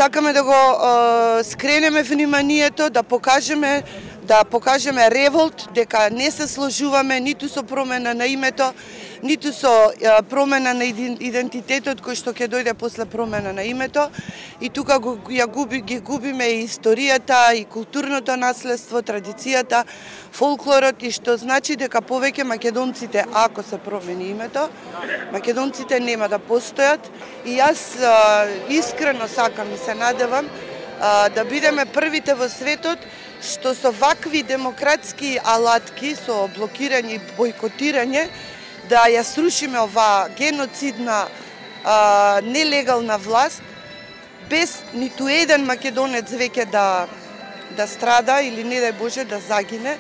сакаме да го скренеме вниманието, да покажеме револт, дека не се сложуваме ниту со промена на името, ниту со промена на идентитетот кој што ќе дојде после промена на името. И тука ги губиме и историјата, и културното наследство, традицијата, фолклорот, и што значи дека повеќе македонците, ако се промени името, македонците нема да постојат. И јас искрено сакам и се надевам да бидеме првите во светот што со вакви демократски алатки, со блокирање и бойкотирање, да ја срушиме оваа геноцидна, нелегална власт, без ниту еден македонец веќе да страда или не дај Боже да загине.